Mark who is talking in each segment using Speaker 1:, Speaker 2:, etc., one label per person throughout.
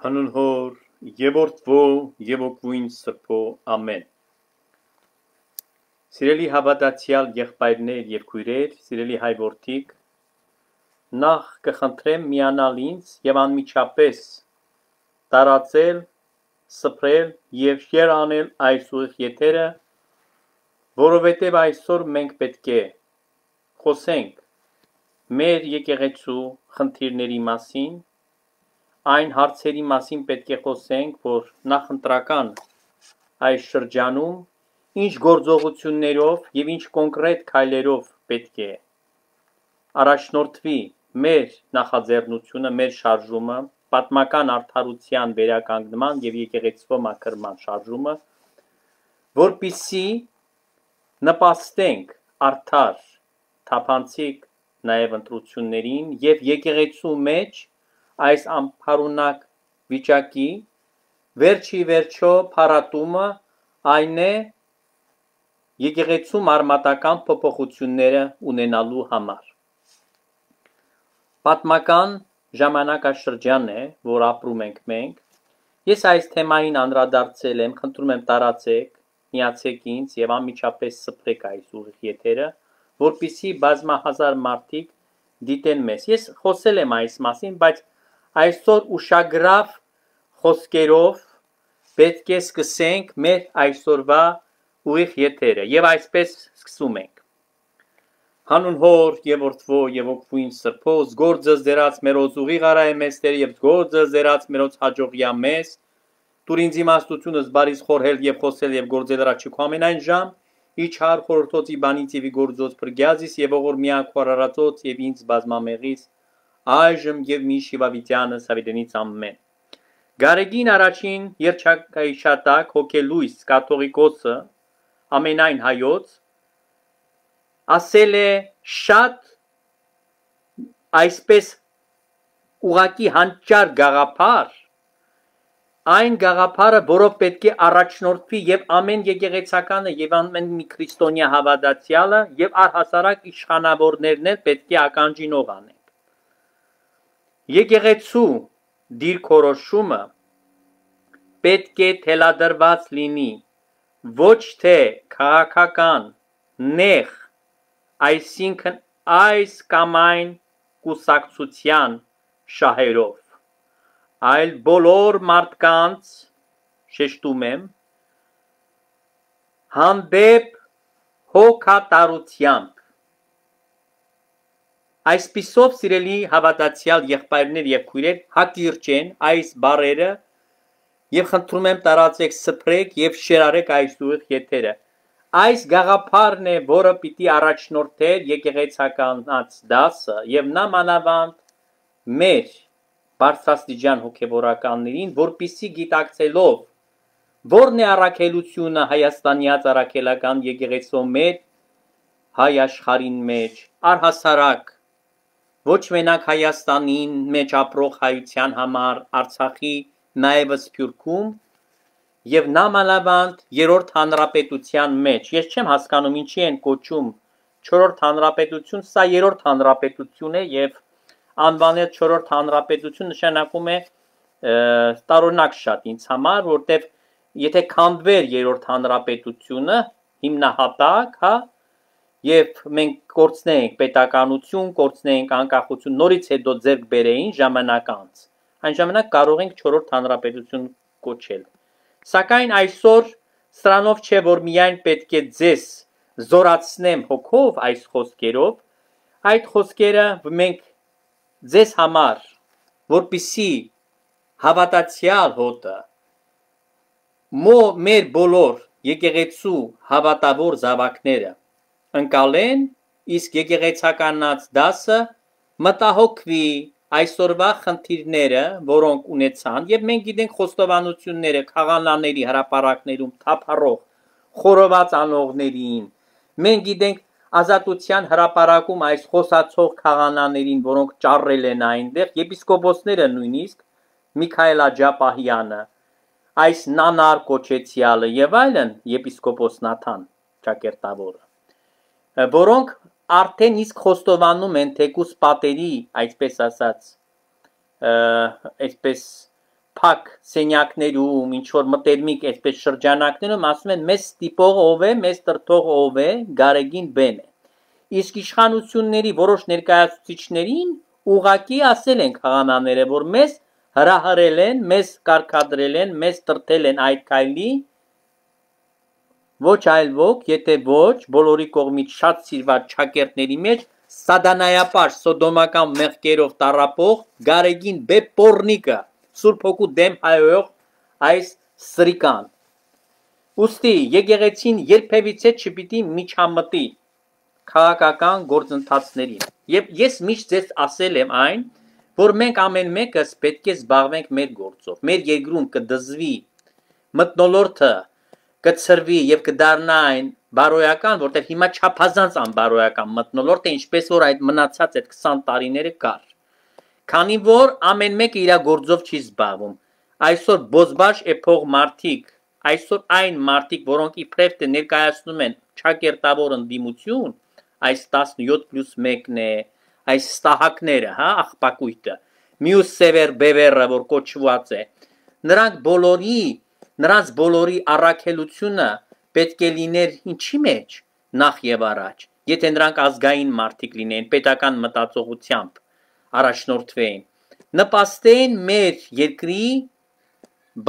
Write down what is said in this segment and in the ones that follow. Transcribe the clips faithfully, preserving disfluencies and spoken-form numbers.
Speaker 1: Հանուն Հոր և Որդվո և Օգնույն Սրբո ամեն։ Սիրելի հավատացյալ եղբայրներ և քույրեր, սիրելի հայ որդիկ, նախ կխնդրեմ միանալ ինձ և անմիջապես տարածել, սփռել և շեյր անել այս ուղիղ եթերը, որովհետև այսօր մենք պետք է խոսենք մեր եկեղեցու խնդիրների մասին, այն հարցերի մասին պետք է խոսենք, որ նախընտրական այս շրջանում ինչ գործողություններով և ինչ կոնկրետ քայլերով պետք է առաջնորդվի մեր նախաձեռնությունը, մեր շարժումը, պատմական արդարության վերականգնման և եկեղեցվո մաքրման շարժումը, որպեսզի նպաստենք արդար, թափանցիկ նաև ընտրություններին և եկեղեցու մեջ այս անփարունակ վիճակի վերջի վերջո փարատումը այն է եկեղեցու մարմատական փոփոխությունները ունենալու համար։ Պատմական ժամանակաշրջան է, որ ապրում ենք մենք։ Ես այս թեմային անդրադարձել եմ, խնդրում եմ տարածեք, միացեք ինձ և անմիջապես սփռեք այս ուղիղ եթերը, որպեսզի բազմահազար մարդիկ դիտեն մեզ։ Ես խոսել եմ այս մասին, բայց այսօր ուշագրավ խոսքերով պետք է սկսենք մեր այսօրվա ուղիղ եթերը և այսպես սկսում ենք. Հանուն Հոր և Որդվո և Օգնույն Սրբո, զգործս դերած մերոց ուղիղ արայ մեզ Տեր և զգործս դերած մերոց հաջողյա մեզ, տուր ինձ իմաստությունս բարիս խորհել և խոսել և գործել առաջիքո ամենայն ժամ, իջար խորհրդոցի բանից և իգործոց փրկյազիս և ողոր միակ խորարածոց և ինձ բազմամեղից այժմ և մի շիվավիտյանս հավիտենից ամեն։ Գարեգին առաջին երջանկայիշատակ հոգելույս կաթողիկոսը ամենայն հայոց ասել է շատ այսպես ուղղակի հանճար գաղափար, այն գաղափարը, որով պետք է առաջնորդվի և ամեն եկեղեցականը և ամեն մի քրիստոնյա հավատացյալը և առհասարակ իշխանավորներն էլ պետք է ականջինով անեն։ Եկեղեցու դիրքորոշումը պետք է թելադրված լինի ոչ թե քաղաքական նեղ, այսինքն այս կամ այն կուսակցության շահերով, այլ բոլոր մարդկանց, շեշտում եմ, հանդեպ հոգատարությամբ։ Այսպիսով, սիրելի հավատացյալ եղբայրներ և քույրեր, հակիրճեն այս բառերը և խնդրում եմ տարածեք, սփռեք և շեյրարեք այս ուղիղ եթերը։ Այս գաղափարն է, որը պիտի առաջնորդեր եկեղեցականաց դասը և նա մանավանդ մեր բարձրաստիճան հոգևորականներին, որպեսզի գիտակցելով որն է առաքելությունը հայաստանյաց առաքելական եկեղեցու մեջ, հայ աշխարհին մեջ, առհասարակ ոչ մենակ Հայաստանին մեջ ապրող հայության համար, Արցախի նաև Սփյուռքում և նամանավանդ երրորդ հանրապետության մեջ, ես չեմ հասկանում ինչի են կոչում չորրորդ հանրապետություն, սա երրորդ հանրապետություն է և անվանել չորրորդ հանրապետություն նշանակում է տարօրինակ շատ ինձ համար, որտև եթե քանդվեր երրորդ հանրապետությունը հիմնահատակ, հա, և մենք կորցնեինք պետականություն, կորցնեինք անկախություն, նորից հետո ձեռք բերեին ժամանակ անց, այն ժամանակ կարող ենք չորրորդ հանրապետություն կոչել։ Սակայն այսօր սրանով չէ, որ միայն պետք է ձեզ զորացնեմ հոգով այս խոսքերով, այդ խոսքերը մենք ձեզ համար, որպեսզի հավատացյալ հոտը մեր բոլոր եկեղեցու հավատավոր զավակները ընկալեն, իսկ եկեղեցականաց դասը մտահոգվի այսօրվա խնդիրները, որոնք ունեցան, և մենք գիտենք խոստովանությունները քահանաների հրապարակներում թափառող խորոված անողներին, մենք գիտենք Ազատության հրապարակում այս խոսացող քահանաներին, որոնք ճառել են այնտեղ, եպիսկոպոսները նույնիսկ, Միքայել Աջապահյանը, այս նանար կոչեցյալը և այլն, եպիսկոպոս Նաթան Ճակերտավորը, որոնք արդեն իսկ խոստովանում են թեկուզ պատերի, այսպես ասած, այսպես փակ սենյակներում, ինչ որ մտերմիկ այսպես շրջանակներում ասում են մեզ ստիպող ով է, մեզ տրտող ով է, Գարեգին Բեն է։ Իսկ իշխանությունների որոշ ներկայացուցիչներին ուղակի ասել են խաղանաները, որ մեզ հրահրել են, մեզ կարկադրել են, մեզ տրտել են այդ քայլի, ոչ այլ ոք, եթե ոչ բոլորի կողմից շատ սիրված ճակերտների մեջ սադանայապար սոդոմական մեղքերով տառապող Գարեգին Բե Պորնիկը, Սուրբ Հոգու դեմ հայոյող այս սրիկան։ Ուստի եկեղեցին երբևիցե չպիտի միջամտի քաղաքական գործընթացներին։ Եվ ես միշտ ձեզ ասել եմ այն, որ մենք ամեն մեկս պետք է զբաղվենք մեր գործով։ Մեր երկրում կդզվի մթնոլորտը, կծրվի եւ կդառնա այն բարոյական, որտեղ հիմա չափազանց անբարոյական մթնոլորտ է, ինչպես որ այդ մնացած այդ քսան տարիները կար։ Քանի որ ամեն մեկը իր գործով չի զբաղվում։ Այսօր բոզբաշ էփող մարդիկ, այսօր այն մարդիկ, որոնք իբրև թե ներկայացնում են ճակերտավոր ընդդիմություն, այս տասնյոթ պլյուս մեկն է, այս ստահակները, հա, աղբակույտը, մյուս սևեր բևերը, որ կոչված է, նրանք բոլորի, նրանց բոլորի առաքելությունը պետք է լիներ ինչի մեջ, նախ եւ առաջ, եթե նրանք ազգային մարդիկ լինեն, պետական մտածողությամբ առաջնորդվեին, նպաստեն մեր երկրի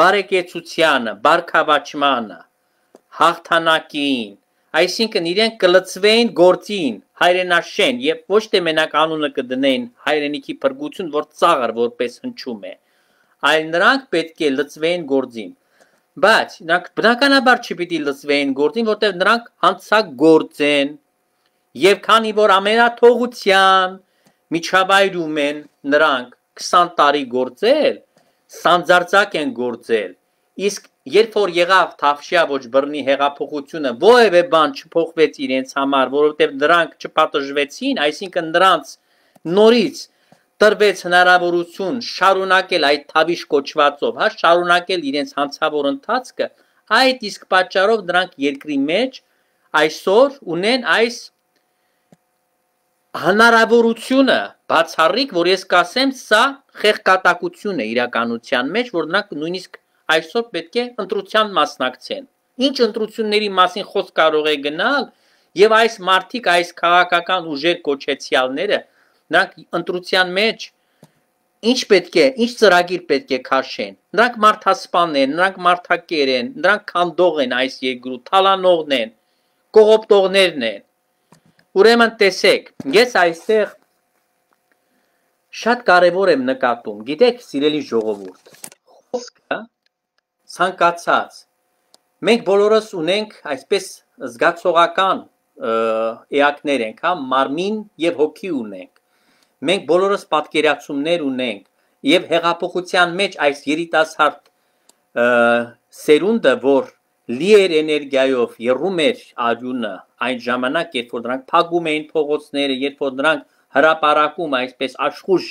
Speaker 1: բարեկեցությանը, բարգավաճմանը, հաղթանակին, այսինքն իրենք կլծվեն գործին, հայրենաշեն եւ ոչ թե մենակ անունը կդնեն հայրենիքի փրկություն, որ ծաղր որպես հնչում է, այլ նրանք պետք է լծվեն գործին։ Բայց նրանք բնականաբար չպիտի լծվեն գործին, որտեղ նրանք հանցագործ են եւ քանի որ ամենաթողության միջավայրում են նրանք քսան տարի գործել, սանձարձակ են գործել, իսկ երբ որ եղավ Թավշյա ոչ բռնի հեղափոխությունը, որևէ բան չփոխվեց իրենց համար, որովհետև նրանք չպատժվեցին, այսինքն նրանց նորից տրվեց հնարավորություն շարունակել այդ Թավիշ կոչվածով, հա, շարունակել իրենց հանցավոր ընթացքը, այդ իսկ պատճառով նրանք երկրի մեջ այսօր ունեն այս հնարավորությունը բացառիկ, որ ես կասեմ, սա խեղկատակություն է իրականության մեջ, որ նրանք նույնիսկ այսօր պետք է ընտրության մասնակցեն։ Ինչ ընտրությունների մասին խոսք կարող է գնալ, եւ այս մարդիկ, այս քաղաքական ուժեր կոչեցյալները, նրանք ընտրության մեջ ինչ պետք է, ինչ ծրագիր պետք է քաշեն։ Նրանք մարդասպան են, նրանք մարդակեր են, նրանք քանդող են այս երկրու, թալանողն են, կողոպտողներն են։ Ուրեմն տեսեք, ես այստեղ շատ կարևոր եմ նկատում, գիտեք, սիրելի ժողովուրդ, խոսքը ցանկացած, մենք բոլորս ունենք այսպես զգացողական էակներ ենք, հա, մարմին եւ հոգի ունենք, մենք բոլորս պատկերացումներ ունենք եւ հեղափոխության մեջ այս երիտասարդ սերունդը, որ լի էր էներգիայով, եռում էր արյունը այն ժամանակ, երբ որ նրանք փակում էին փողոցները, երբ որ նրանք հրապարակում այսպես աշխուժ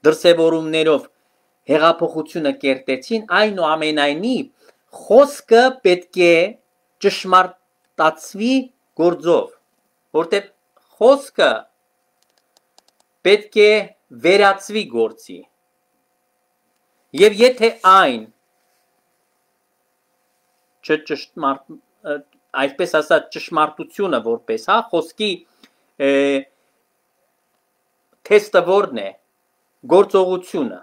Speaker 1: դրսևորումներով հեղափոխությունը կերտեցին, այնուամենայնիվ խոսքը պետք է ճշմարտացվի գործով, որտեղ խոսքը պետք է վերածվի գործի։ Եվ եթե այն չճշմարտ, այսպես ասած ճշմարտությունը որպես, հա, խոսքի թեստը որն է, գործողությունը։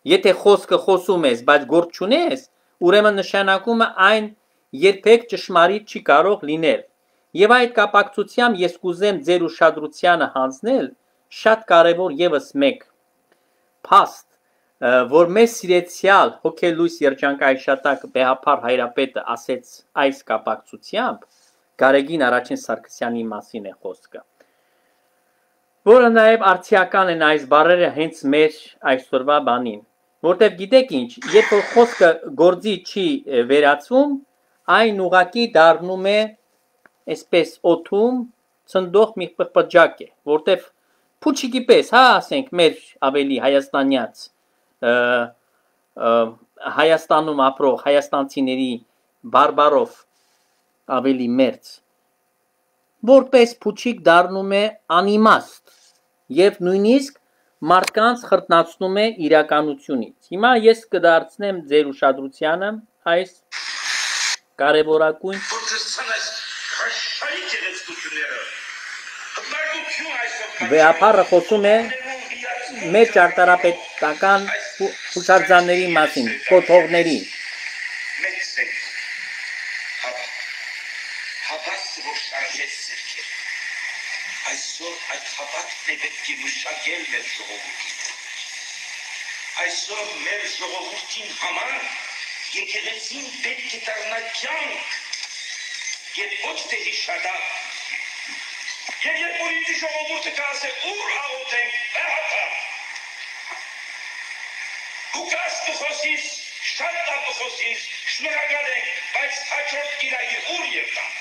Speaker 1: Եթե խոսքը խոսում ես, բայց գործ չունես, ուրեմն նշանակում է այն երբեք ճշմարիտ չի կարող լինել։ Եվ այդ կապակցությամբ ես կուզեմ ձեր ուշադրությանը հանձնել շատ կարևոր եւս մեկ փաստ, որ մեզ սիրեցյալ հոգելույս երջանկայիշատակ Բեհափար Հայրապետը ասեց այս կապակցությամբ, Գարեգին առաջին Սարգսյանի մասին է խոսքը, որը նաև արդիական են այս բառերը հենց մեր այսօրվա բանին, որտեղ գիտեք ինչ, երբ որ խոսքը գործի չի վերածվում, այն ուղղակի դառնում է այսպես օդում ցնդող մի պղպջակ է, որտեղ փուչիկի պես, հա, ասենք մեր ավելի հայաստանյաց Հայաստանում ապրող հայաստանցիների բարբարով ավելի մերձ, որպես փուչիկ դառնում է անիմաստ եւ նույնիսկ մարդկանց խրտնացնում է իրականությունից։ Հիմա ես կդարձնեմ ձեր ուշադրությանը այս կարևորագույն վեհապարը խոսում է մեր ճարտարապետական հուշարձանների մասին, կոթողների։
Speaker 2: Այսօր այդ հավատն է պետք է մշակել մեր ժողովրդին։ Այսօր մեր ժողովրդին համար եկեղեցին պետք է դառնա կյանք եւ ոչ թե հիշադակ։ Եվ երբ որ ինձ ժողովուրդը կասե ուր աղոթենք, վեհապար։ Դու կաս կխոսիս, շատ լավ կխոսիս, շնորհակալ ենք, բայց հաջորդ կիրայի ուր եկան։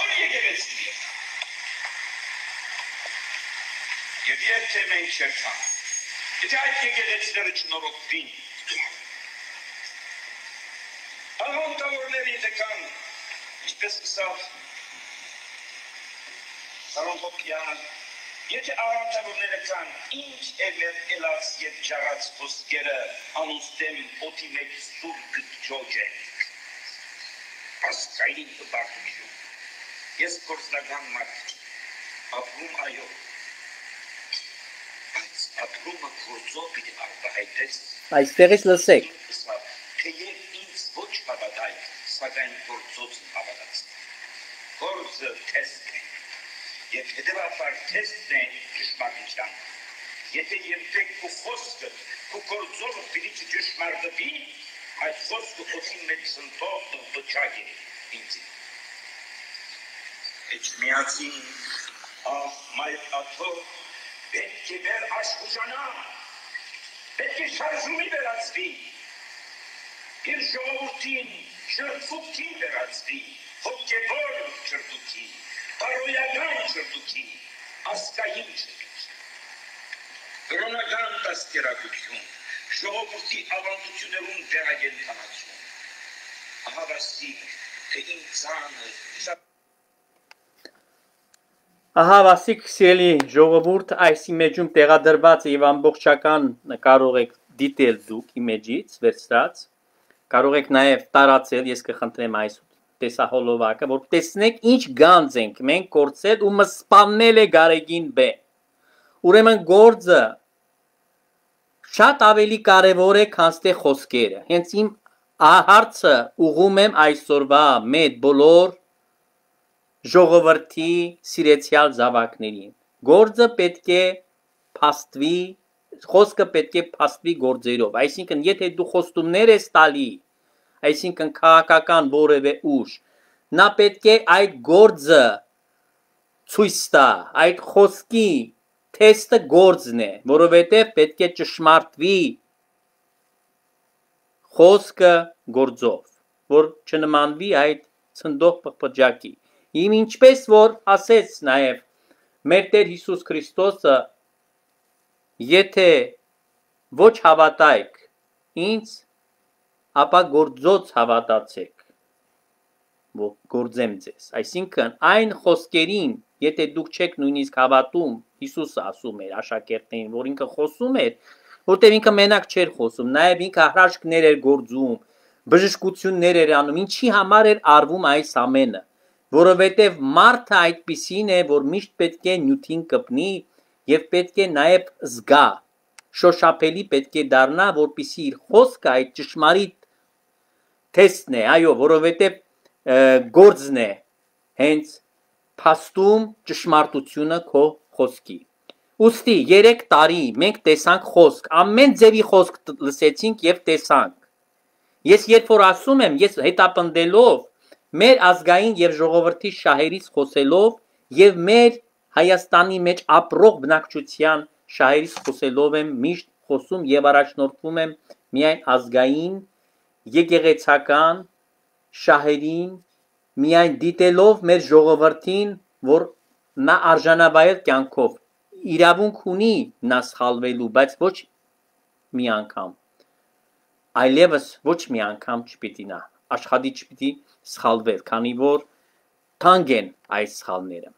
Speaker 2: Որ եկեղեցին եկան։ Եվ եթե մենք չերթան, եթե այդ եկեղեցիները չնորոգվին, աղոթավորները եթե կան, ինչպես կսավ Սարոն Հոպյանը, եթե աղոթավորները կան, ինչ է մեր ելած և ճարած խոսքերը անուստեմ օթի մեջ սուր գտջոջ է, ասկային տպարտություն, ես կործնական մարդ, ապրում այո, ապրումը գործով պիտի արտահայտես
Speaker 1: Այստեղից լսեք
Speaker 2: թեև ինձ ոչ հավատայ, սակայն գործոց հավատաց գործը թեստ է և հետևաբար թեստն է ճշմարտության եթե երբեք քո խոսքը քո գործով պիտի ճշմարտվի այդ խոսքը օդի մեջ սնտող բջակ է ինձ Էջմիածին ահ մայր աթող պետք է վեր աշխուժանա, պետք է շարժումի վերածվի, իր ժողովրդին շրտուքին վերածվի, հոգևոր շրտուքի, բարոյական շրտուքի, ասկային շրտուքի, կրոնական դաստիարակություն, ժողովրդի ավանդություններում վերագենթանացում, ահավասիկ, թե ինձանը,
Speaker 1: Ահա վասիկ սիրելի ժողովուրդ այս իմեջում տեղադրված եւ ամբողջական կարող եք դիտել դուք իմեջից վերցրած կարող եք նաեւ տարածել ես կխնդրեմ այս տեսահոլովակը որ տեսնեք ինչ գանձ ենք մենք կորցել ու մսպաննել է Գարեգին Բ ուրեմն գործը շատ ավելի կարեւոր է քան թե խոսքերը հենց իմ հարցը ուղում եմ այսօրվա մեծ բոլոր ժողովրդի սիրեցյալ զավակներին գործը պետք է փաստվի խոսքը պետք է փաստվի գործերով այսինքն եթե դու խոստումներ ես տալի այսինքն քաղաքական որևէ ուժ նա պետք է այդ գործը ցույց տա այդ խոսքի թեստը գործն է որովհետև պետք է ճշմարտվի խոսքը գործով որ չնմանվի այդ ցնդող պղպջակի Իմ ինչպես որ ասեց նաև մեր Տեր Հիսուս Քրիստոսը եթե ոչ հավատայք ինձ ապա գործոց հավատացեք որ գործեմ ձեզ այսինքն այն խոսքերին եթե դուք չեք նույնիսկ հավատում Հիսուսը ասում էր աշակերտներին որ ինքը խոսում էր որտեղ ինքը մենակ չէր խոսում նաև ինքը հրաշքներ էր գործում բժշկություններ էր անում ինչի համար էր արվում այս ամենը որովհետև մարդը այդպիսին է, որ միշտ պետք է նյութին կպնի և պետք է նաև զգա, շոշափելի պետք է դառնա, որպեսզի իր խոսքը այդ ճշմարիտ թեստն է, այո, որովհետև գործն է հենց փաստում ճշմարտությունը քո խոսքի։ Ուստի երեք տարի մենք տեսանք խոսք, ամեն ձևի խոսք լսեցինք և տեսանք։ Ես երբ որ ասում եմ, ես հետապնդելով մեր ազգային եւ ժողովրդի շահերից խոսելով եւ մեր Հայաստանի մեջ ապրող բնակչության շահերից խոսելով եմ միշտ խոսում եւ առաջնորդվում եմ միայն ազգային եկեղեցական շահերին միայն դիտելով մեր ժողովրդին որ նա արժանավայել կյանքով իրավունք ունի նա սխալվելու բայց ոչ մի անգամ այլևս ոչ մի անգամ չպիտի նա աշխատի չպիտի սխալվել, քանի որ թանկ են այս սխալները։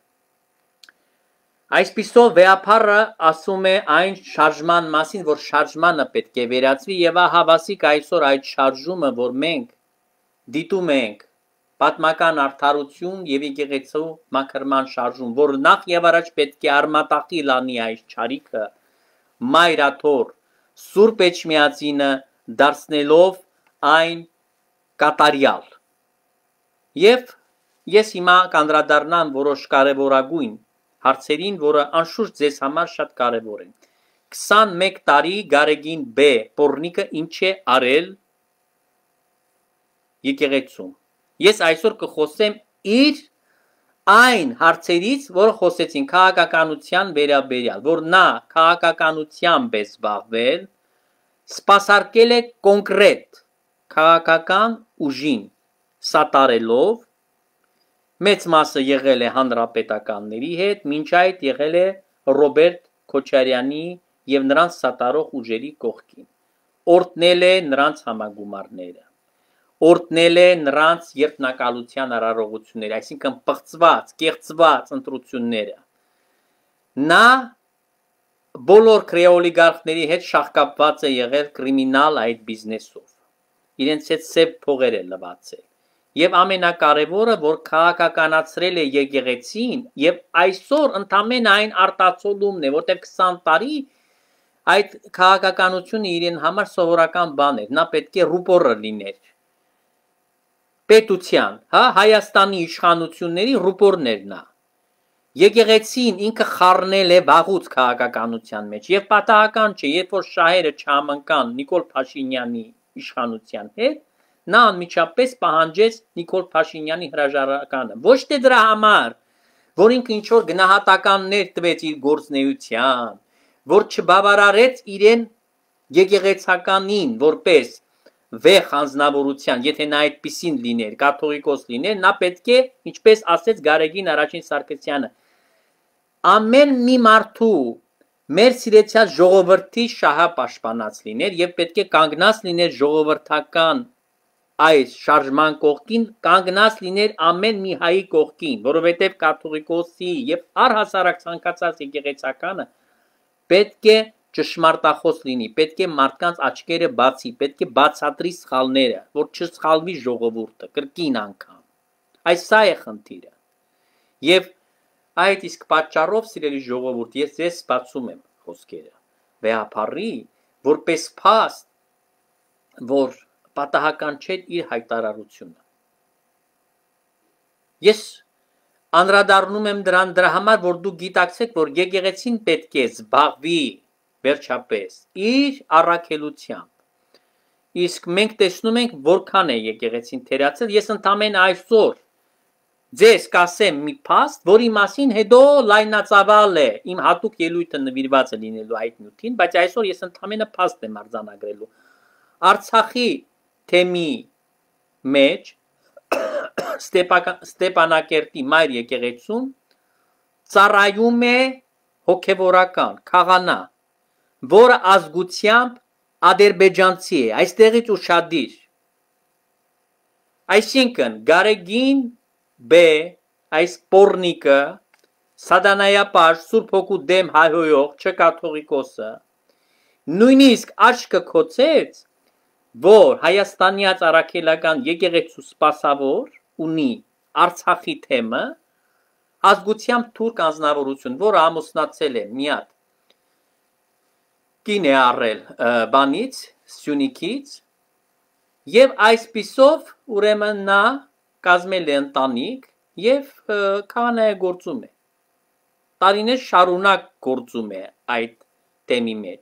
Speaker 1: Այսպիսով վեապարը ասում է այն շարժման մասին, որ շարժմանը պետք է վերացվի եւ ահավասիկ այսօր այդ շարժումը, որ մենք դիտում ենք պատմական արդարություն եւ եկեղեցու մաքրման շարժում, որ նախ եւ առաջ պետք է արմատախի լանի այս ճարիքը մայրաթոր Սուրբ Էջմիածինը դարձնելով այն կատարյալ։ Եվ ես հիմա կանդրադառնամ որոշ կարևորագույն հարցերին, որը անշուշտ ձեզ համար շատ կարևոր են։ քսանմեկ տարի Գարեգին B Պորնիկը ինչ է արել եկեղեցում։ Ես այսօր կխոսեմ իր այն հարցերից, որը խոսեցին քաղաքականության վերաբերյալ, որ նա քաղաքականությամբ է զբաղվել, սպասարկել է կոնկրետ քաղաքական ուժին սատարելով, մեծ մասը եղել է հանրապետականների հետ, մինչ այդ եղել է Ռոբերտ Քոչարյանի եւ նրանց սատարող ուժերի կողքին, օրհնել է նրանց համագումարները, օրհնել է նրանց երթնակալության արարողությունները, այսինքն պղծված, կեղծված ընտրությունները։ Նա բոլոր քրեոլիգարխների հետ շահկապված է եղել կրիմինալ այդ բիզնեսով, իրենց հետ սև փողեր է լվացել։ Եվ ամենակարևորը, որ քաղաքականացրել է եկեղեցին եւ այսօր ընդամենը այն արտացոլումն է, որտեղ քսան տարի այդ քաղաքականությունը իրեն համար սովորական բան էր, նա պետք է ռուպորը լիներ պետության, հա, Հայաստանի իշխանությունների ռուպորներ նա։ Եկեղեցին ինքը խառնել է վաղուց քաղաքականության մեջ եւ պատահական չէ, երբ որ շահերը չհամընկան Նիկոլ Փաշինյանի իշխանության հետ, նա անմիջապես պահանջեց Նիկոլ Փաշինյանի հրաժարականը, ոչ թե դրա համար, որ ինքը ինչ որ գնահատականներ տվեց իր գործնեության, որ չբավարարեց իրեն եկեղեցականին որպես վեհ անձնավորության, եթե նա այդպիսին լիներ, կաթողիկոս լիներ, նա պետք է, ինչպես ասեց Գարեգին առաջին Սարգսյանը, ամեն մի մարդու մեր սիրեցյալ ժողովրդի շահը պաշտպանած լիներ եւ պետք է կանգնած լիներ ժողովրդական այս շարժման կողքին, կանգնած լիներ ամեն մի հայի կողքին, որովհետև կաթողիկոսի եւ առհասարակ ցանկացած եկեղեցականը պետք է ճշմարտախոս լինի, պետք է մարդկանց աչքերը բացի, պետք է բացատրի սխալները, որ չսխալվի ժողովուրդը, կրկին անգամ։ Այս սա է խնդիրը։ Եվ այդ իսկ պատճառով, սիրելի ժողովուրդ, ես ձեզ բացում եմ խոսքերը։ Վեապարի, որպես փաստ, որ պատահական չէ իր հայտարարությունը։ Ես անդրադառնում եմ դրան դրա համար, որ դուք գիտակցեք, որ եկեղեցին պետք է զբաղվի վերջապես իր առաքելությամբ։ Իսկ մենք տեսնում ենք, որքան է եկեղեցին թերացել, ես ընդամենը այսօր ձեզ կասեմ մի փաստ, որի մասին հետո լայնածավալ է, իմ հատուկ ելույթը նվիրված է լինելու այդ նյութին, բայց այսօր ես ընդամենը փաստ եմ արձանագրելու։ Արցախի թեմի մեջ Ստեփանակերտի մայր եկեղեցուն ծառայում է հոգևորական քահանա, որը ազգությամբ ադրբեջանցի է, այստեղից ուշադիր։ Այսինքն Գարեգին B այս Պորնիկը սատանայապաշտ Սուրբ Հոգու դեմ հայհոյող չկաթողիկոսը նույնիսկ աչքը քոցեց, որ Հայաստանյաց առաքելական եկեղեցու սպասավոր ունի Արցախի թեմը, ազգությամբ թուրք անձնավորություն, որը ամուսնացել է մի հատ կին է առել բանից, Սյունիքից, եւ այսպիսով ուրեմն նա կազմել է ընտանիք եւ քահանայագործում է։ Տարիներ շարունակ գործում է այդ թեմի մեջ։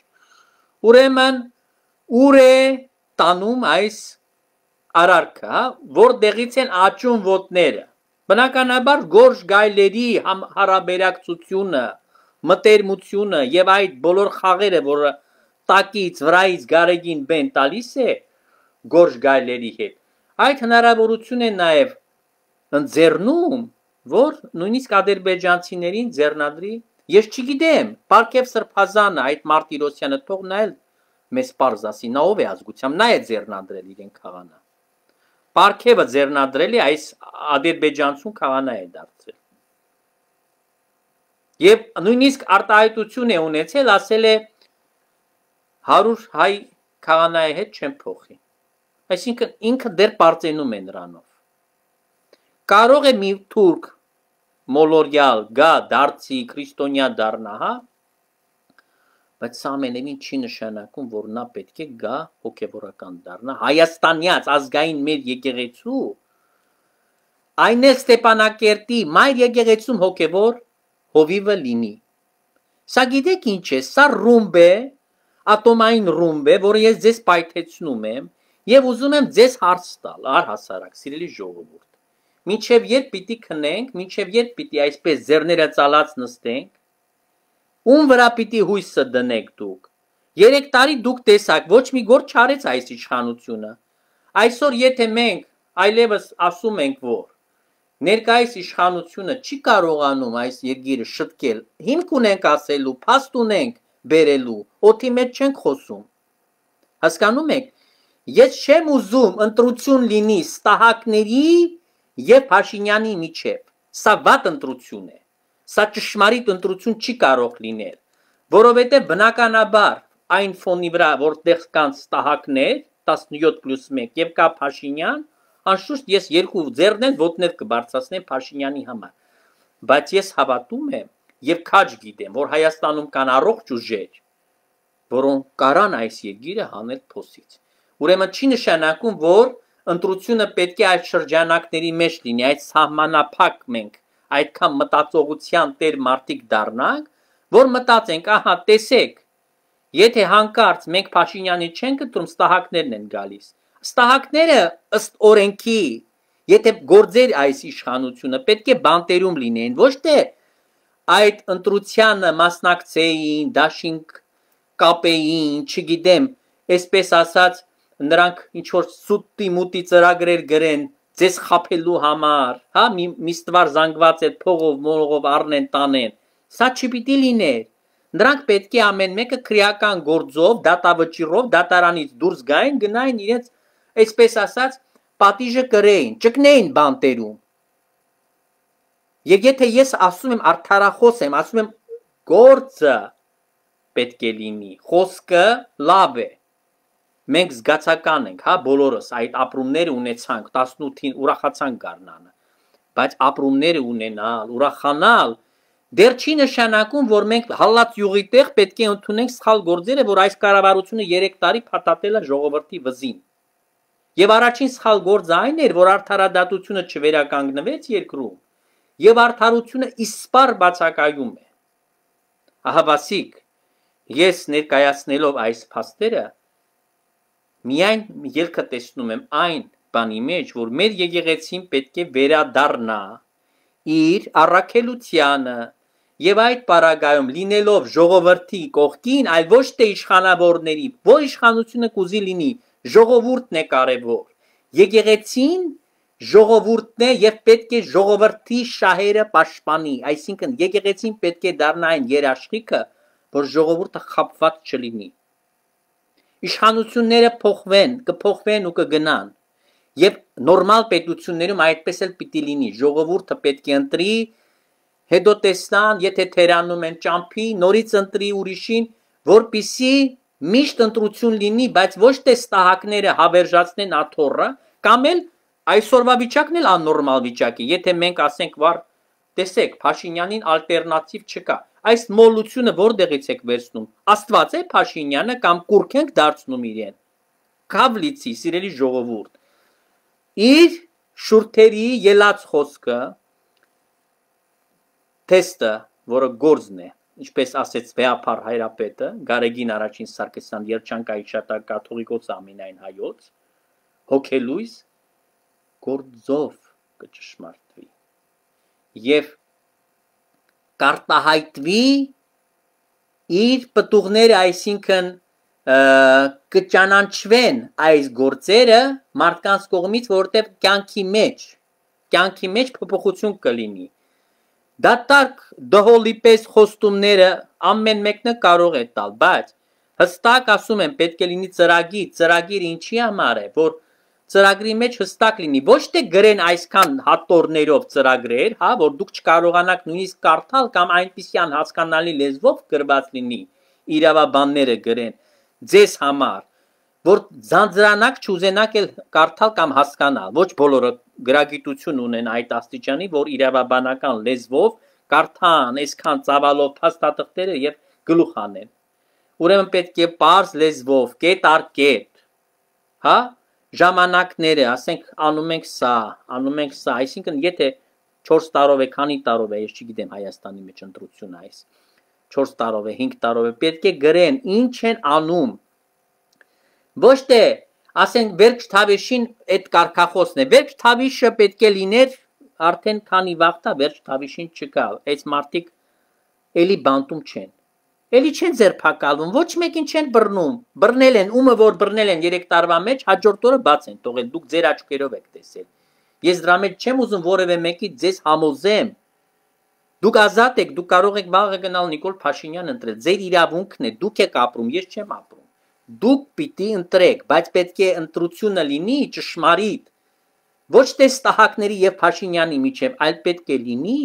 Speaker 1: Ուրեմն ուր է տանում այս արարքը, որտեղից են աճում ոտները։ Բնականաբար գորշ գայլերի հարաբերակցությունը, մտերմությունը եւ այդ բոլոր խաղերը, որը տակից, վրայից Գարեգին բեն տալիս է գորշ գայլերի հետ, այդ հնարավորություն է նաեւ ընձեռնում, որ նույնիսկ ադրբեջանցիներին ձեռնադրի։ Ես չգիտեմ, Պարքև Սրբազանը, այդ Մարտիրոսյանը թող նա էլ մեզ պարզ ասի, նա ով է ազգությամբ, նա է ձեռնադրել իրեն քահանա։ Պարքևը ձեռնադրել է այս ադրբեջանցուն քահանա է դարձրել։ Եվ նույնիսկ արտահայտություն է ունեցել, ասել է հարյուր հայ քահանայի հետ չեմ փոխի։ Այսինքն ինքը դեռ պարծենում է նրանով։ Կարող է մի թուրք մոլորյալ գա դարձի քրիստոնյա դառնա, հա, բայց սա ամենևին չի նշանակում, որ նա պետք է գա հոգևորական դառնա Հայաստանյաց ազգային մեր եկեղեցու, այն էլ Ստեփանակերտի մայր եկեղեցում հոգևոր հովիվը լինի։ Սա գիտեք ինչ է, սա ռումբ է, ատոմային ռումբ է, որը ես ձեզ պայթեցնում եմ եւ ուզում եմ ձեզ հարց տալ, առհասարակ, սիրելի ժողովուրդ։ Մինչև երբ պիտի քնենք, մինչև երբ պիտի այսպես ձեռները ծալած նստենք, ում վրա պիտի հույսը դնեք դուք։ Երեք տարի դուք տեսաք, ոչ մի գործ չարեց այս իշխանությունը։ Այսօր եթե մենք այլևս ասում ենք, որ ներկայիս իշխանությունը չի կարողանում այս երկիրը շտկել, հիմք ունենք ասելու, փաստ ունենք բերելու, օդի մեջ չենք խոսում։ Հասկանում եք, ես չեմ ուզում ընտրություն լինի ստահակների եւ Փաշինյանի միջև։ Սա վատ ընտրություն է։ Սա ճշմարիտ ընտրություն չի կարող լինել, որովհետեւ բնականաբար այն ֆոնի վրա, որտեղ կան ստահակներ տասնյոթ պլյուս մեկ եւ կա Փաշինյան, անշուշտ ես երկու ձեռներ ոտներ կբարձրացնեմ Փաշինյանի համար, բայց ես հավատում եմ եւ քաջ գիտեմ, որ Հայաստանում կան առողջ ուժեր, որոնք կարան այս երկիրը հանել փոսից։ Ուրեմն չի նշանակում, որ ընտրությունը պետք է այդ շրջանակների մեջ լինի, այդ սահմանափակ մենք այդքան մտածողության տեր մարդիկ դառնանք, որ մտածենք, ահա, տեսեք, եթե հանկարծ մենք Փաշինյանի չենք ընտրում, ստահակներն են գալիս։ Ստահակները ըստ օրենքի, եթե գործեր այս իշխանությունը, պետք է բանտերում լինեն, ոչ թե այդ ընտրությանը մասնակցեին, դաշինք կապեին, չգիտեմ, այսպես ասած, նրանք ինչ որ սուտի մուտի ծրագրեր գրեն ձեզ խափելու համար, հա, մի միստվար զանգված է փողով, մորողով առնեն, տանեն։ Սա չպիտի լիներ։ Նրանք պետք է ամեն մեկը քրեական գործով, դատավճիռով, դատարանից դուրս գային, գնային իրենց, այսպես ասած, պատիժը կրեին, ճկնեին բանտերում։ Եվ եթե ես ասում եմ արդարախոս եմ, ասում եմ գործը պետք է լինի, խոսքը լավ է։ Մենք զգացական ենք, հա, բոլորս այդ ապրումները ունեցանք, տասնութին ուրախացանք գարնանը, բայց ապրումները ունենալ, ուրախանալ, դեռ չի նշանակում, որ մենք հալած յուղի տեղ պետք է ընդունենք սխալ գործերը, որ այս կառավարությունը երեք տարի փաթաթել է ժողովրդի վզին։ Եվ առաջին սխալ գործը այն էր, որ արդարադատությունը չվերականգնվեց երկրում, եւ արդարությունը իսպառ բացակայում է։ Ահավասիկ, ես ներկայացնելով այս փաստերը միայն ելքը տեսնում եմ այն բանի մեջ, որ մեր եկեղեցին պետք է վերադառնա իր առաքելությանը եւ այդ պարագայում լինելով ժողովրդի կողքին, այլ ոչ թե իշխանավորների, որ իշխանությունը կուզի լինի, ժողովուրդն է կարևոր։ Եկեղեցին ժողովուրդն է եւ պետք է ժողովրդի շահերը պաշտպանի, այսինքն եկեղեցին պետք է դառնա այն երաշխիքը, որ ժողովուրդը խապված չլինի։ Իշխանությունները փոխվեն, կփոխվեն ու կգնան։ Եվ նորմալ պետություններում այդպես էլ պիտի լինի։ Ժողովուրդը պետք է ընտրի, հետո տեսնան, եթե թերանում են ճամփի, նորից ընտրի ուրիշին, որպիսի միշտ ընտրություն լինի, բայց ոչ թե ստահակները հավերժացնեն աթոռը, կամ էլ այսօրվա վիճակն էլ աննորմալ վիճակ է։ Եթե մենք ասենք, վար, տեսեք, Փաշինյանին ալտերնատիվ չկա։ Այս մոլությունը որտեղից եք վերցնում։ Աստված է Փաշինյանը կամ կուրք ենք դարձնում իրեն։ Քավլիցի, սիրելի ժողովուրդ։ Իր շուրթերի ելած խոսքը թեստը, որը գործն է, ինչպես ասեց Վեապար հայրապետը, Գարեգին առաջին Սարգսյան երջանկայի շատակ կաթողիկոս ամենայն հայոց, հոգելույս գործով կճշմարտվի։ Եվ կարտահայտվի իր պտուղները, այսինքն կճանաչվեն այս գործերը մարդկանց կողմից, որտեղ կյանքի մեջ, կյանքի մեջ փոփոխություն կլինի։ Դատարկ դհոլի պես խոստումները ամեն մեկը կարող է տալ, բայց հստակ ասում եմ, պետք է լինի ծրագիր, ծրագիր ինչի համար է, որ ծրագրի մեջ հստակ լինի, ոչ թե գրեն այսքան հատորներով ծրագրեր, հա, որ դուք չկարողանաք նույնիսկ կարդալ կամ այնպիսյան հասկանալի լեզվով գրված լինի, իրավաբանները գրեն ձեզ համար, որ ձանձրանակ չուզենաք էլ կարդալ կամ հասկանալ, ոչ բոլորը գրագիտություն ունեն այդ աստիճանի, որ իրավաբանական լեզվով կարդան այսքան ծավալով փաստաթղթերը եւ գլուխ անեն։ Ուրեմն պետք է պարզ լեզվով, կետ առ կետ, հա, ժամանակները, ասենք անում ենք սա, անում ենք սա, այսինքն եթե չորս տարով է, քանի տարով է, ես չգիտեմ Հայաստանի մեջ ընտրությունը այս, չորս տարով է, հինգ տարով է, պետք է գրեն, ինչ են անում։ Ոչ թե, ասենք Վերջ Թավիշին այդ կարգախոսն է, Վերջ Թավիշը պետք է լիներ արդեն քանի վաղտա Վերջ Թավիշին չկա, այս մարդիկ էլի բանտում չեն, էլի չեն ձերբակալվում, ոչ մեկին չեն բռնում, բռնել են, ումը որ բռնել են երեք տարվա մեջ, հաջորդ օրը բաց են թողել, դուք ձեր աչքերով եք տեսել։ Ես դրա մեջ չեմ ուզում որևէ մեկի ձեզ համոզեմ։ Դուք ազատ եք, դուք կարող եք վաղը գնալ Նիկոլ Փաշինյան ընտրել, ձեր իրավունքն է, դուք եք ապրում, ես չեմ ապրում։ Դուք պիտի ընտրեք, բայց պետք է ընտրությունը լինի ճշմարիտ, ոչ թե ստահակների եւ Փաշինյանի միջև, այլ պետք է լինի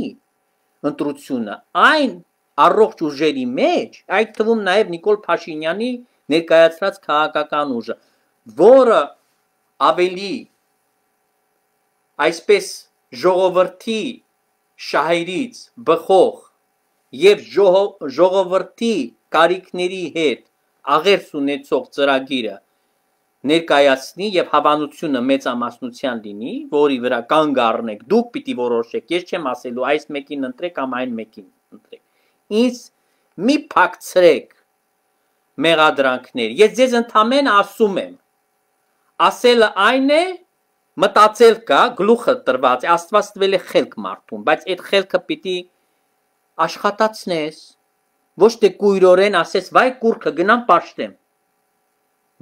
Speaker 1: ընտրությունը այն առողջ ուժերի մեջ, այդ թվում նաեւ Նիկոլ Փաշինյանի ներկայացրած քաղաքական ուժը, որը ավելի այսպես ժողովրդի շահերից բխող եւ ժողովրդի կարիքների հետ աղերս ունեցող ծրագիրը ներկայացնի եւ հավանությունը մեծամասնության լինի, որի վրա կանգ առնեք, դուք պիտի որոշեք, ես չեմ ասելու այս մեկին ընտրեք կամ այն մեկին ընտրեք։ Ինձ մի փակցրեք մեղադրանքներ, ես ձեզ ընդամենը ասում եմ, ասելը այն է, մտածել կա, գլուխը տրված է, Աստված տվել է խելք մարդուն, բայց այդ խելքը պիտի աշխատացնես, ոչ թե կույրորեն ասես, վայ կուրքը գնամ պաշտեմ,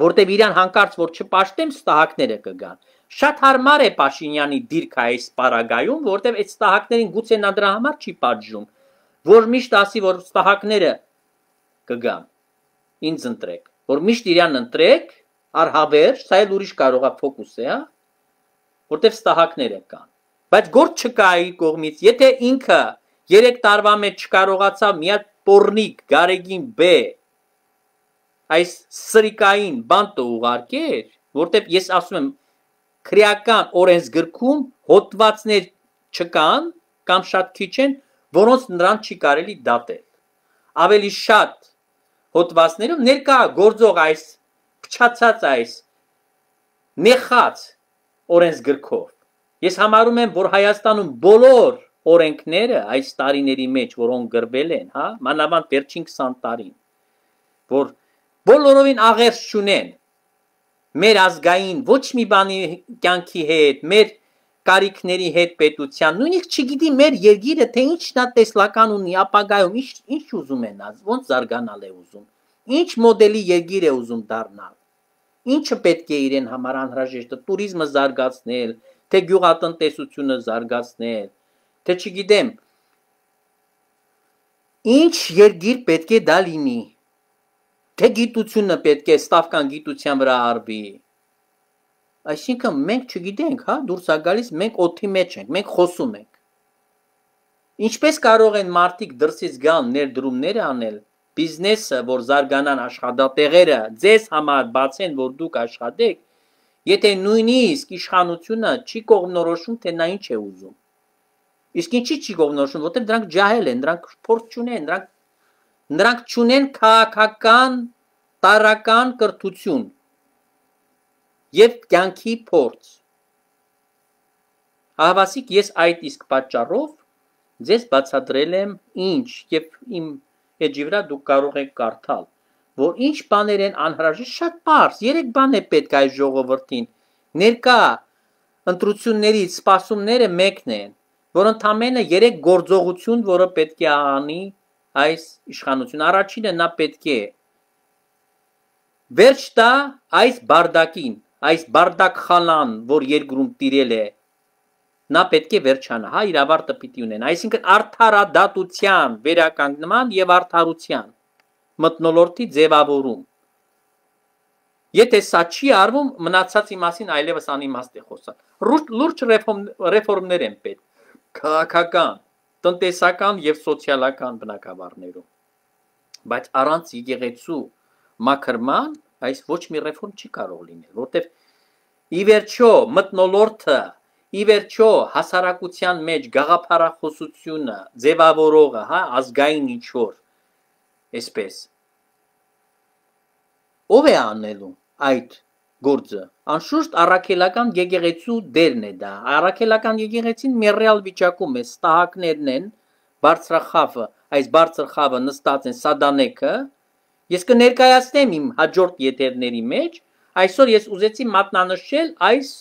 Speaker 1: որտեւ իրան հանկարծ որ չպաշտեմ, ստահակները կգան։ Շատ հարմար է Փաշինյանի դիրքը այս պարագայում, որտեւ այդ ստահակներին գուցե նա դրա համար չի պատժում, որ միշտ ասի, որ ստահակները կգան, ինձ ընտրեք, որ միշտ իրան ընտրեք, առհավեր, սա էլ ուրիշ կարող է ֆոկուս է, հա, որտեվ ստահակները կան, բայց գործ չկա իր կողմից, եթե ինքը երեք տարվա մեջ չկարողացավ մի հատ պոռնիկ Գարեգին B այս սրիկային բանտը ուղարկեր, որտեվ ես ասում եմ, քրեական օրենսգրքում հոդվածներ չկան կամ շատ քիչ են, որոնց նրան չի կարելի դատել։ Ավելի շատ հոդվածներում ներկա գործող այս փչացած այս նեխած օրենսգրքով։ Ես համարում եմ, որ Հայաստանում բոլոր օրենքները այս տարիների մեջ, որոնք գրվել են, հա, մանավանդ վերջին քսան տարին, որ բոլորովին աղերս չունեն մեր ազգային ոչ մի բանի կյանքի հետ, մեր կարիքների հետ պետության, նույնիսկ չգիտի մեր երկիրը թե ինչն է տեսլական ունի ապագայում, ինչ ինչ ուզում են, ոնց զարգանալ է ուզում, ինչ մոդելի երկիր է ուզում դառնալ, ինչը պետք է իրեն համար անհրաժեշտ է, տուրիզմը զարգացնել, թե գյուղատնտեսությունը զարգացնել, թե չգիտեմ, ինչ երկիր պետք է դա լինի, թե գիտությունը պետք է ստավկան գիտության վրա արվի, այսինքն մենք չգիտենք, հա, դուրս է գալիս, մենք օդի մեջ ենք, մենք խոսում ենք, ինչպես կարող են մարդիկ դրսից գալ ներդրումներ անել, բիզնեսը, որ զարգանան աշխատատեղերը, ձեզ համար բացեն, որ դուք աշխատեք, եթե նույնիսկ իշխանությունը չի կողմնորոշում, թե նա ինչ է ուզում, իսկ ինչի չի կողմնորոշում, որտեղ դրանք ջահել են, դրանք փորձ չունեն, դրանք Նրանք չունեն քաղաքական տարրական կրթություն եւ կյանքի փորձ։ Ահավասիկ ես այդ իսկ պատճառով ձեզ բացատրել եմ ինչ եւ իմ էջի վրա դուք կարող եք կարդալ, որ ինչ բաներ են անհրաժեշտ, շատ պարզ, երեք բան է պետք այս ժողովրդին։ Ներկա ընտրություններից սպասումները մեկն են, որ ընդամենը երեք գործողություն, որը պետք է անի այս իշխանություն, առաջինը նա պետք է վերջ տա այս բարդակին, այս բարդակխանան, որ երկրում տիրել է, նա պետք է վերջանա, հա, իր ավարտը պիտի ունենա, այսինքն արդարադատության վերականգնման եւ արդարության մթնոլորտի ձևավորում։ Եթե սա չի արվում, մնացածի մասին այլևս անիմաստ է խոսալ։ Լուրջ ռեֆորմներ են պետք քաղաքական, տնտեսական եւ սոցիալական բնագավառներում։ Բայց առանց եկեղեցու մաքրման այս ոչ մի ռեֆորմ չի կարող լինել, որտեղ ի վերջո մթնոլորտը, ի վերջո հասարակության մեջ գաղափարախոսությունը ձևավորողը, հա, ազգային ինչ-որ, այսպես ով է անելու այդ գործը։ Անշուշտ առաքելական եկեղեցու դերն է դա։ Առաքելական եկեղեցին մեռյալ վիճակում է, ստահակներն են, բարձրախավը, այս բարձր խավը նստած են սադանեքը։ Ես կներկայացնեմ իմ հաջորդ եթերների մեջ, այսօր ես ուզեցի մատնանշել այս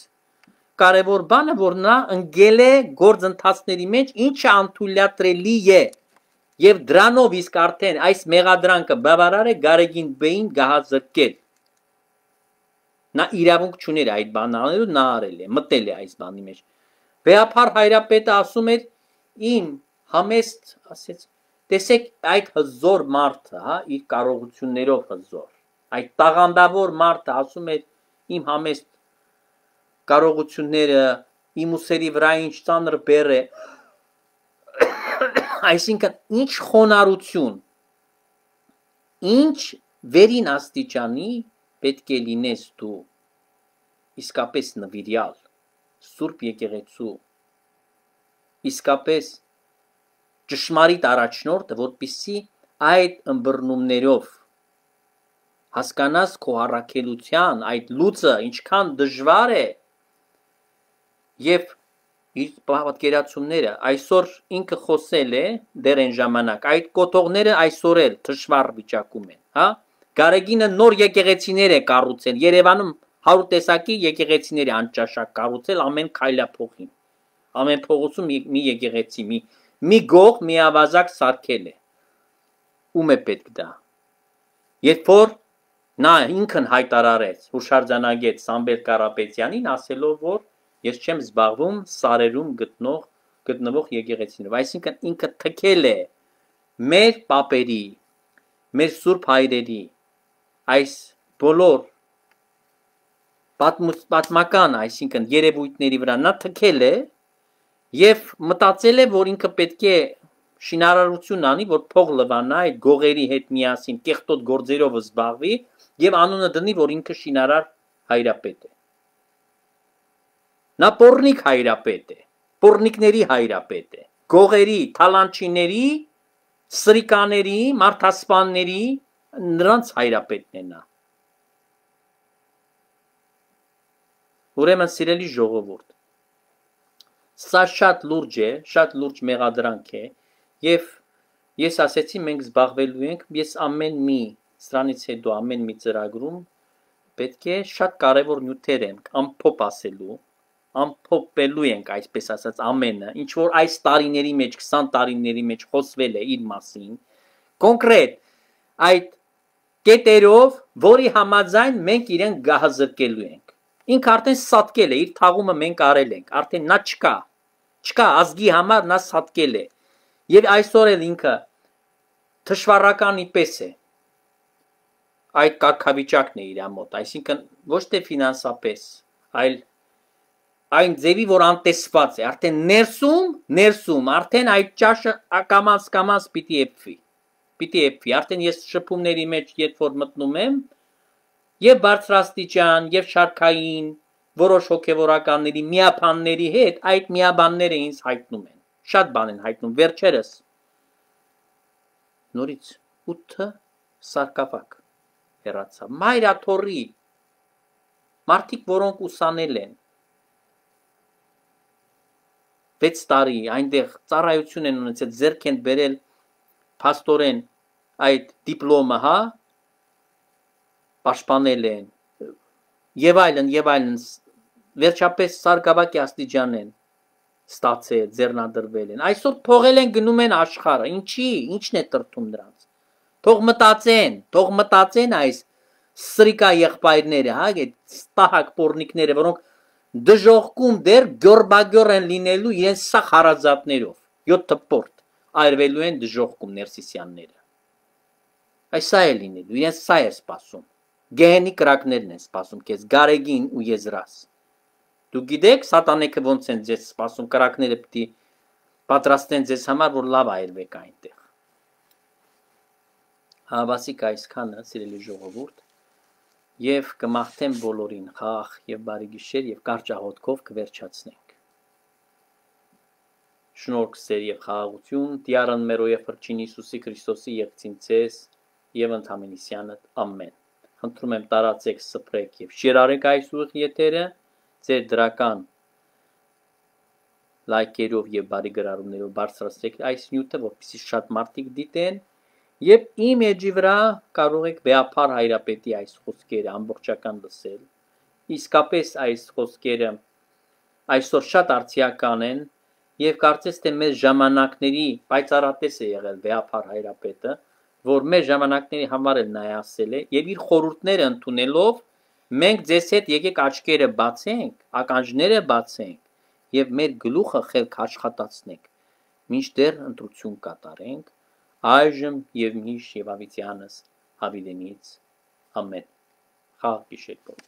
Speaker 1: կարևոր բանը, որ նա ընկել է գործընթացների մեջ, ինչը անթույլատրելի է։ Եվ դրանով իսկ արդեն այս մեղադրանքը բավարար է Գարեգին Բեին գահազրկել։ Նա իրավունք չուներ այդ բանը անելու, նա արել է, մտել է այս բանի մեջ։ Վեհափառ Հայրապետը ասում էր իմ համեստ, ասեց, տեսեք այդ հզոր մարդը, հա, իր կարողություններով հզոր, այդ տաղանդավոր մարդը ասում էր իմ համեստ կարողությունները, իմ ուսերի վրա ինչ ծանր բեռ է, այսինքն ինչ խոնարհություն, ինչ վերին աստիճանի պետք է լինես դու իսկապես նվիրյալ, սուրբ եկեղեցու, իսկապես ճշմարիտ առաջնորդը, որպեսզի այդ ըմբռնումներով հասկանաս քո առաքելության այդ լուծը ինչքան դժվար է եւ իր պատկերացումները այսօր ինքը խոսել է դեռ այն ժամանակ այդ կոթողները այսօր էլ դժվար վիճակում են, հա? Գարեգինը նոր եկեղեցիներ է կառուցել, Երևանում հարյուր տեսակի եկեղեցիներ է անճաշակ կառուցել ամեն քայլափողին։ Ամեն փողոցում մի, մի եկեղեցի, մի մի գող, մի ավազակ սարքել է։ Ում է պետք դա։ Երբ որ նա ինքն հայտարարեց հուշարձանագետ Սամվել Կարապետյանին ասելով, որ ես չեմ զբաղվում սարերում գտնող գտնվող եկեղեցիներով, այսինքն ինքը թքել է մեր պապերի, մեր սուրբ հայրերի այս բոլոր պատմական, այսինքն երևույթների վրա նա թքել է եւ մտածել է, որ ինքը պետք է շինարարություն անի, որ փող լվանա այդ գողերի հետ միասին կեղտոտ գործերով զբաղվի եւ անունը դնի, որ ինքը շինարար հայրապետ է։ Նա պոռնիկ հայրապետ է, պոռնիկների հայրապետ է, գողերի, թալանչիների, սրիկաների, մարդասպանների, նրանց հայրապետն է նա։ Ուրեմն սիրելի ժողովուրդ, սա շատ լուրջ է, շատ լուրջ մեղադրանք է եւ ես ասեցի մենք զբաղվելու ենք, ես ամեն մի սրանից հետո ամեն մի ծրագրում պետք է շատ կարևոր նյութեր ենք ամփոփ ասելու, ամփոփելու ենք այսպես ասած ամենը, ինչ որ այս տարիների մեջ, քսան տարիների մեջ խոսվել է իր մասին, կոնկրետ այդ կետերով, որի համաձայն մենք իրեն գահազրկելու ենք։ Ինքը արդեն սատկել է, իր թաղումը մենք արել ենք, արդեն նա չկա, չկա ազգի համար նա սատկել է։ Եվ այսօր էլ ինքը թշվառականի պես է։ Այդ կարգավիճակն է իր մոտ, այսինքն ոչ թե ֆինանսապես, այլ այն ձևի, որ անտեսված է, արդեն ներսում, ներսում, արդեն այդ ճաշը կամաց կամաց պիտի էփվի։ Պիտի էփվի, արդեն ես շփումների մեջ երբ որ մտնում եմ, եւ բարձրաստիճան, եւ շարքային, որոշ հոգեվորականների միաբանների հետ այդ միաբանները ինձ հայտնում են։ Շատ բան են հայտնում, վերջերս նորից ութ սարկավակ հեռացավ։ Մայրաթորի մարդիկ, որոնք ուսանել են վեց տարի այնտեղ ծառայություն են ունեցել, ձեռք են բերել փաստորեն այդ դիպլոմը, հա, պաշտպանել են եւ այլն եւ այլն վերջապես սարկավակի աստիճան են ստացել, ձեռնադրվել են, այսօր թողել են գնում են աշխարհը, ինչի, ինչն է տրտում նրանց, թող մտածեն, թող մտածեն այս սրիկա եղբայրները, հա, այդ ստահակ պոռնիկները, որոնք դժողքում դեռ գորբագոր են լինելու իրենց սա հարազատներով, յոթ տպորտ այրվելու են դժողքում ներսիսյանները, այս սա է լինելու, իրենց սա է սպասում, Գեհենի կրակներն են սպասում քեզ, Գարեգին ու Եզրաս։ Դու գիտեք սատանեքը ոնց են ձեզ սպասում, կրակները պիտի պատրաստեն ձեզ համար, որ լավ այրվեք այնտեղ։ Հավասիկ այսքանը, սիրելի ժողովուրդ, եւ կմաղթեմ բոլորին խաղ եւ բարի գիշեր եւ կարճ աղոթքով կվերջացնենք։ Շնորհք, սեր եւ խաղաղություն Տյարն մեր եւ Փրկին Հիսուսի Քրիստոսի եղծին ցես եւ ընդհանրիսյանդ ամեն։ Խնդրում եմ տարածեք, սփռեք եւ շերարեք այս ուղիղ եթերը ձեր դրական լայքերով եւ բարի գրառումներով բարձրացրեք այս նյութը, որպեսզի շատ մարդիկ դիտեն եւ իմ էջի վրա կարող եք վեապար հայրապետի այս խոսքերը ամբողջական լսել։ Իսկապես այս խոսքերը այսօր շատ արդիական են եւ կարծես թե մեր ժամանակների պայծառատես է եղել վեապար հայրապետը, որ մեր ժամանակների համար էլ նա է ասել է եւ իր խորհուրդները ընդունելով մենք ձեզ հետ եկեք աչքերը բացենք, ականջները բացենք եւ մեր գլուխը խելք աշխատացնենք, մինչդեռ ընտրություն կատարենք, այժմ եւ միշտ եւ ավիտյանս հավիտենից ամեն։ Խաղ գիշեր։